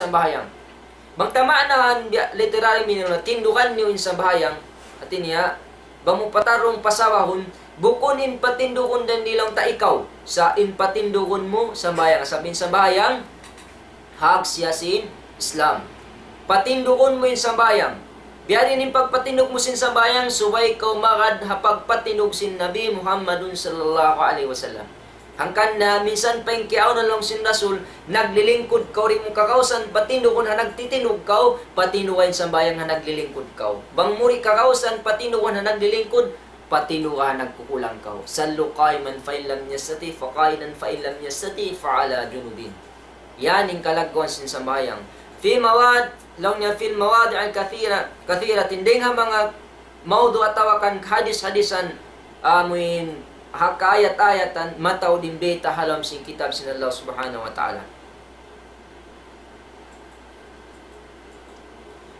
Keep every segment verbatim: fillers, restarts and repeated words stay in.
sambahayang. Bang ta maanahan biya' literary meaning na tindugan niyu in sambahayang, hati niya, bang mu patarrung pasabahun, bukun in patindugun dayn di laung ta ikaw, sa' in patindugun mu sambahayang, sabab in sambahayang, hak siya sin Islam. Patindugun mu in sambahayang. Biya' diin in pagpatindug mu sin sambahayang, subay kaw magad ha pagpatindug sin Nabi Muhammadun sallallahu alayhi wasallam. Hangkan na minsan pa in kiyaawnan laung sin Rasul, naglilingkud kaw, di' mu kakawsan patindugun ha nagtitindug kaw, patinduga in sambahayang ha naglilingkud kaw. Bang mu di' kakawsan patindugun ha naglilingkud, patinduga ha nagkukulang kaw. صلوا قائما فإن لم تستطع فقاعدا فإن لم تستطع فعلى جنب. Yan in kalagguan sin sambahayang. في مواد، laung niya في المواضع الكثيرة، كثيرة. Dayn ha manga mawdu' atawa kan hadis-hadisan, amuin ha kaayat-ayatan, mataud in bayta' ha lawm sin kitab sin Allah Subhanahu wa Ta'ala.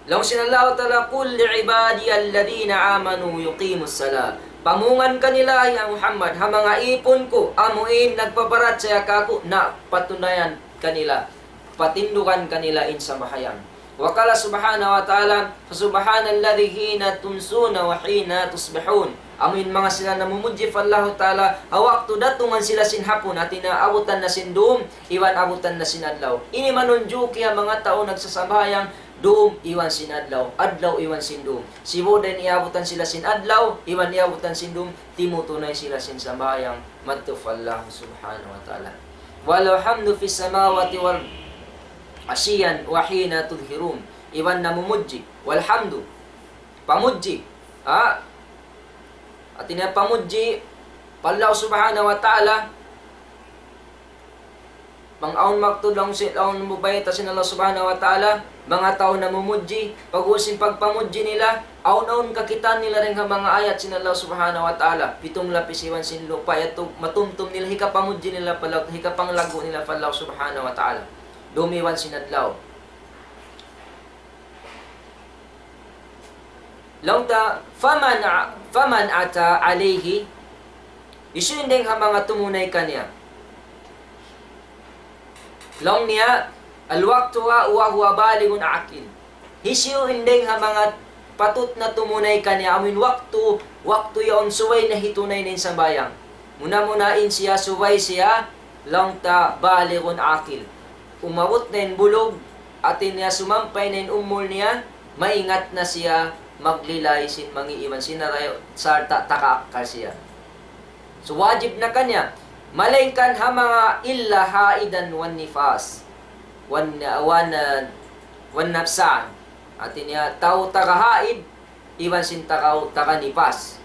Laung sin Allah Ta'ala, قل لعبادي الذين آمنوا يقيموا الصلاة. Pamungan kanila, ya Muhammad, ha manga īpun ku, amuin nagpaparachaya kāku', na patunayan kanila, patindugan kanila in sambahayang. وقال سبحانه وتعالى، فسبحان الذي حين تمسون وحين تصبحون. Amuin manga sila namumudji pa Allahu Ta'ala, ha waktu datungan sila sin hapun, hati niya abutan na sin dum, iban abutan na sin adlaw. Ini manunjuki ha manga tau nagsasambahayang, dum iban sin adlaw, adlaw iban sin dum. Sibu' da in iyabutan sila sin adlaw, iban iyabutan sin dum, timutunay sila sin sambahayang, madtu pa Allah Subhanahu wa Ta'ala. وله الحمد في السماوات والأرض عشيا وحين تظهرون. Iban namumudji. والحمد. Pamudji. Ha? Hati niya pamudji pa Allah Subhanahu wa Ta'ala. Bang awn waktu laung sin, awn bayta' sin Allah Subhanahu wa Ta'ala, manga tau namumudji, pag'ubus sin pagpamudji nila, awn-awn kakitaan nila dayn ha manga ayat sin Allah Subhanahu wa Ta'ala, pitung lapis iban sin lupa', yadtu matumtum nila, hikapamudji nila pa Allah, hikapanglaggu' nila pa Allah Subhanahu wa Ta'ala. Dum iban sin adlaw. Laung ta, فمن ع-، فمن أتى عليه, hisiyu in dayng ha manga tumunay kaniya. Laung niya, الوقت وهو بالغ عاقل. Hisiyu in dayng ha manga patut na tumunay kaniya, amuin waktu, waktu yaun subay na hitunay na in sambahayang. Muna-muna in siya subay siya, laung ta بالغ عاقل. Umabut na in bulug, hati niya sumampay na in umul niya, maingat na siya maglilay sin mangi' iban sin narayaw, sarta' takaakkal siya. So, wajib na kaniya. Malaingkan ha manga إلا حائضا والنفاس. Wan, wan, wan nafsan. Hati niya, tau taga haid, iban sin tau taga nifas.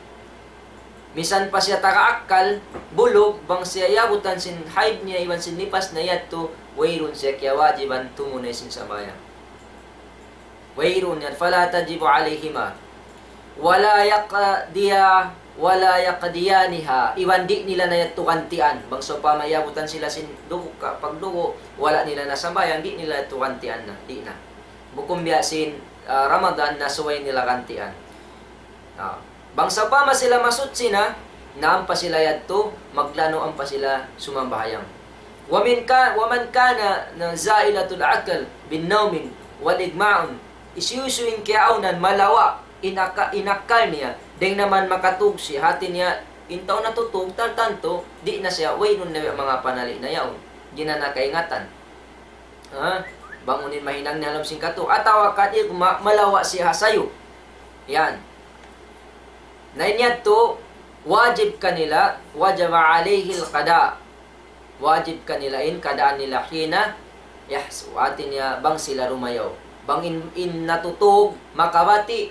Misan pa siya taga akkal, bulug, bang siya iyabutan sin haid niya, iban sin nifas niya yadtu, wayruun siya kiyawajiban tumunay sin sambahayang. Wayruun yan, فلا تجب عليهما ولا يقضيا-، ولا يقضيانها. Iban di' nila na yadtu gantian. Bang sawpama iyabutan sila sin dugu', ka-, pagdugu', wala' nila na sambahayang, di' nila yadtu gantian na, di' na. Bukun biya' sin, ah, Ramadan na subay nila gantian. Ah, bang sawpama sila masuchi na, na ampa sila yadtu, maglanu' ampa sila sumambahayang. ومن كا-، ومن كان زائلة العقل بالنوم والإغماء. Hisiyu-siyu in kiyaawnan malawa' in aka-, in akkal niya, dayng ha manga makatug siya, hati niya, in tau natutug, tantu, di' na siya, wayruun na manga panali' na yaun. Di' na nakaingatan. Ha? Bang unu in mahinang niya ha lawm sin katug. Atawa kan igma', malawa' siya ha sayu. Yan. Na in yadtu, wajib kanila, وجب عليه القضاء. Wajib kanila in qadaan nila حين يحسو. Hati niya bang sila rumayaw. Bang in, in natutug, makabati',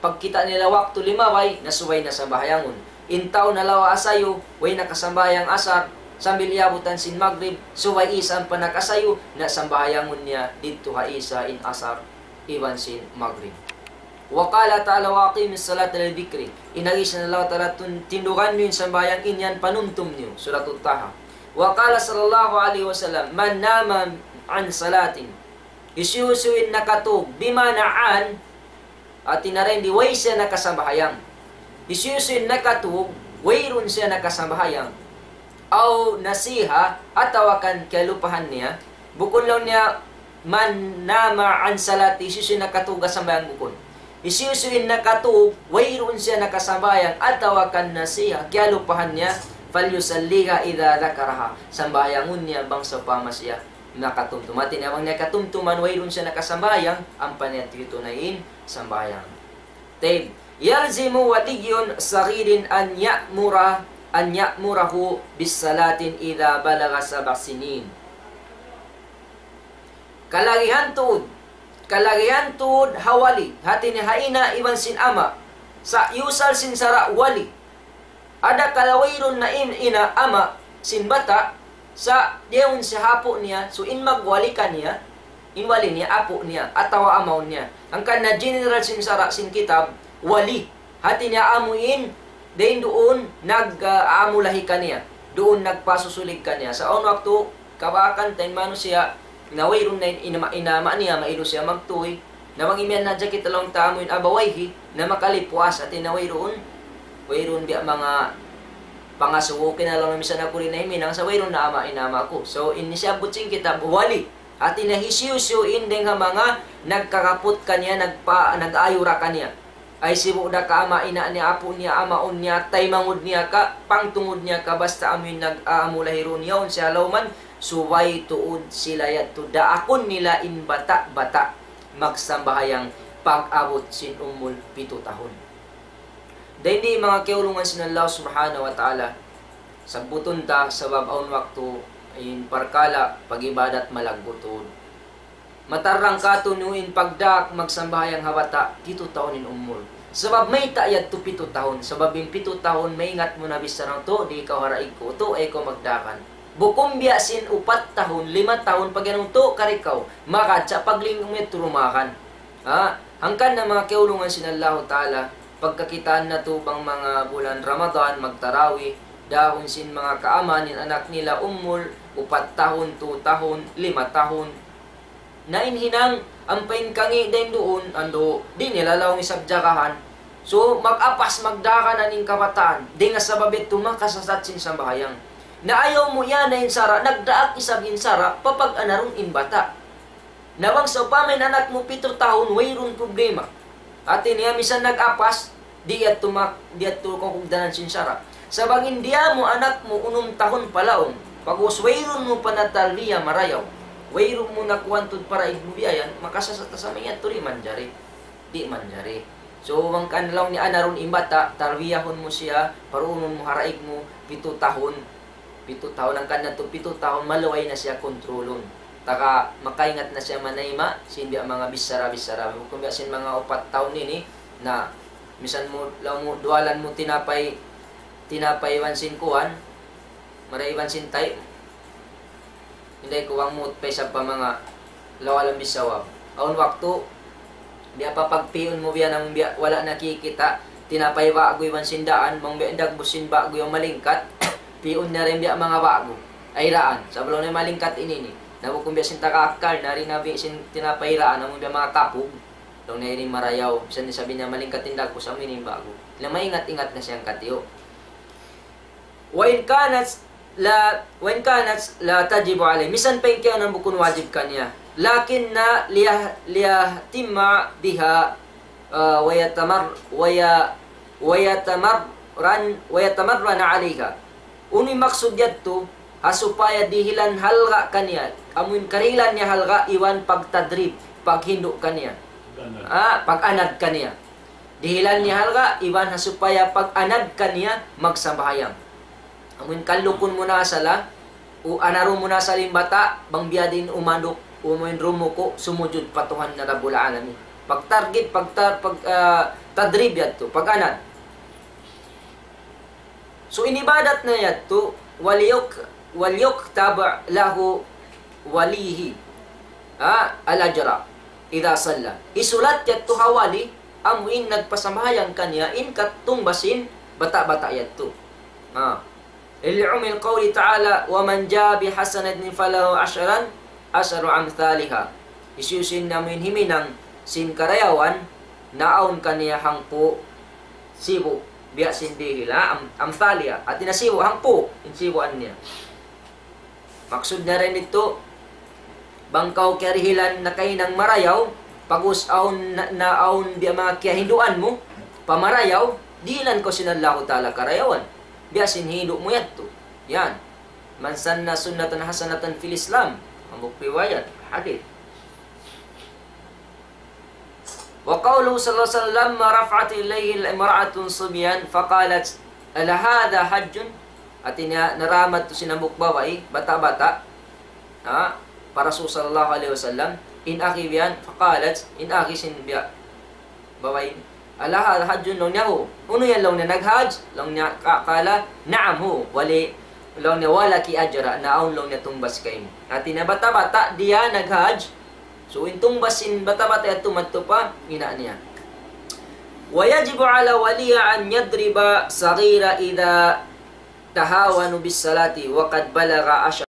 pagkita' nila waktu limabay, na subay na sambahayangun. In tau nalawa' ha sayu, way nakasambahayang asar, sambil iyabutan sin magrib, subay isab pa nakasayu, na sambahayangun niya didtu ha isa in asar, iban sin magrib. وقال تعالى: وأقيموا الصلاة لذكري. In agi sin Allah Ta'ala tun-, tindugan niyu in sambahayang in yan panumtum niyu. Suratut Taha. وقال صلى الله عليه وسلم: من نام عن صلاة. Hisiyu-siyu in nakatug, bima'na an, hati niya dayn di way siya nakasambahayang. Hisiyu-siyu in nakatug, wayruun siya nakasambahayang. أو نسيها, atawa kan kiyalupahan niya. Bukun laung niya, من نام عن صلاته, hisiyu-siyu in nakatug ha sambahayang bukun. Hisiyu-siyu in nakatug, wayruun siya nakasambahayang, atawa kan nasiha, kiyalupahan niya, فليصلها إذا ذكرها. Sambahayangun niya bang sawpama siya nakatumtum. Hati niya bang niya katumtuman, wayruun siya nakasambahayang, ampa niya tuyu' tunayn in sambahayang. Tayyib. يلزم ولي صغير أن يأمر، أن يأمره بالصلاة إذا بلغ سبع سنين. Kalagihan tuud, kalagihan tuud ha wali, hati niya ha ina' iban sin ama', sa' iyusal sin sara' wali. Adakala wayruun na in-, ina', ama' sin bata', sa' diyaun siya ha apu' niya, so in magwali kaniya, in wali niya, apu' niya, atawa amaun niya. Hangkan na general sin sara' sin kitab, wali. Hati niya amu in, dayn duun nag, ah, amu lahi kaniya. Duun nagpasusulig kaniya. Sa' awn waktu, kabaakan ta in manusiya', na wayruun na in, in ama', in ama' niya, mailu siya magtuy. Na bang imiyan na hadja kita laung ta amu in أبويه, na makalipuas, hati niya wayruun, wayruun biya' manga pangasubu, kinalaung na misan aku di' na himinang, sa' wayruun na ama', in ama' ku. So, in siyabbut sin kitab, wali. Hati niya hisiyu-siyu in dayng ha manga nagkakaput kaniya, nagpa-, nag-ayura kaniya. Ay sibu' da ka ama', ina' niya, apu' niya, amaun niya, taymanghud niya ka, pangtungud niya ka, basta amu in nag-, amu lahirun yaun siya ha lawman, subay tuud sila yadtu daakun nila in bata'-bata' magsambahayang pag-abut sin umul pitu tahun. Dayn di manga kiyaulungan sin Allah Subhanahu wa Ta'ala, sabbutun ta sabab awn waktu in parkala' pag-ibadat malaggu' tuud. Matarrang kātu'niyu in pagdaak magsambahayang ha bata', pitu tahun in umul. Sabab mayta' yadtu pitu tahun, sabab in pitu tahun maingat mu na bichara, "Utu', di' kaw ha daig ku, utu', ayaw kaw magdaakan." Bukun biya' sin upat tahun, lima tahun, pag-iyanun, "Utu', kari kaw," magad sa' paglingi' mu yadtu dumaakan. Ha? Hangkan na manga kiyaulungan sin Allahu Ta'ala, pagkakitaan natu' bang manga bulan Ramadan, magtarawih, dahun sin manga kaaman in anak nila umul, upat tahun, tu tahun, lima tahun. Na in hinang, ampa in kangī' dayn duun, andu', di' nila laung isab jagahan. So, mag-apas, magdaakan in kabataan, dayn ha sabab yadtu makasasat sin sambahayang. Na ayaw mu yan na in sara', nagdaak isab in sara', papag-anarun in bata'. Na bang sawpama in anak mu pitu tahun, wayruun problema. Hati niya, misan nag-apas, di' yadtu mak-, di' yadtu kakugdanan sin sara'. Sa' bang in diyā mu anak mu unum tahun pa laung, pag'ubus wayruun mu pa natarbiya marayaw, wayruun mu nakuwan tuud pa daig mu biya' yan, makasasat sa manga yadtu, di' manjari. Di' manjari. So, bang kan laung niya anarun in bata', tarbiyahun mu siya, paruunun mu ha daig mu, pitu tahun, pitu tahun, hangkan na tuud pitu tahun, maluhay na siya kontrolun. Taga makaingat na siya manayma' sin biya' manga bichara-bichara. Bukun biya' sin manga upat tahun ini, na misan mu, laung mu, duwalan mu tinapay, tinapay iban sin kuwan, mara iban sin tay. Inday ku bang muut pa isab pa manga lawalan bisawab. Awn waktu, biya' pa pagpi'un mu biya' na amun biya' wala' nakikita', tinapay ba'gu iban sin daan, bang biya' dagbus sin ba'gu yan malingkat, pi'un na dayn biya' manga ba'gu. Ay daan, sabab laung niya malingkat ini ini. Na bukun biya' sin taga akkal, na di' na bi' sin tinapay daan, amun biya' manga kapug. Laung niya ini marayaw, misan isab niya malingkat in dagbus, amu ini in ba'gu. Na maingat-ingat na siya hangkatiyu'. وإن كانت لا، وإن كانت لا تجب عليه. Misan pa in kiyaunan bukun wajib kaniya. لكن ليه-، ليهتم بها، ah, ويتمر-، وي-، ويتمرن، ويتمرن عليها. Unu in maksud yadtu, ha supaya dihilan halga' kaniya. Amu in karihilan niya halga' iban pagtadrib, paghindu' kaniya. Pag-anad. Ah, pag-anad kaniya. Dihilan niya halga', iban ha supaya pag-anad kaniya magsambahayang. Amu in kallukun mu na asal, ha? U anarun mu na asal in bata', bang biya' diin umanduk, amu in rumuku', sumujud pa Tuhan na Rabbul Alamin. Pagtargib, pagta-, pag, ah, tadrib yadtu, pag-anad. So, in ibadat na yadtu, وليك-، وليكتب له وليه، ha, الأجر إذا صلى. Isulat yadtu ha wali, amu in nagpasambahayang kaniya, in katungbas sin bata'-bata' yadtu. Ha. لعموم قوله تعالى: ومن جاء بالحسنة فله عشر، عشر أمثالها. Hisiyu-siyu in amu in himinang sin karayawan, naawn kaniya hangpu' sibu', biya' sin dihil, ha? Am-, amthaliha. Hati niya sibu', hangpu', in sibuan niya. Maksud niya dayn ditu, Bang kaw kiyarihilan nakahinang marayaw, pag'ubus awn na, na awn biya' manga kiyahinduan mu, pa marayaw, dihilan kaw sin Allahu Ta'ala karayawan. Biya' sin hindu' mu yadtu. Yan. من سن سنة حسنة في الإسلام. Hambuuk riwayat, hadith. وقوله صلى الله عليه وسلم: لما رفعت إليه امرأة صبيا فقالت: ألا هذا حج؟ Hāti niya, naramat tu sin hambuuk babai, bata'-bata', ha, pa Rasul sallallahu alayhi wasallam, in agi biya' yan, فقالت, in agi sin biya' babai, ألا هذا حج؟ Laung niya, "Hu." "Unu yan?" laung niya, "Naghajj?" Laung niya, ka-, قال: نعم، هو. Wali, laung niya, "ولك أجران." Na awn laung niya tungbas kaymu. Hāti niya bata'-bata' diya naghajj. So, in tungbas sin bata'-bata' yadtu madtu pa ina' niya. ويجب على ولي أن يضرب الصغير إذا تهاون بالصلاة وقد بلغ عشر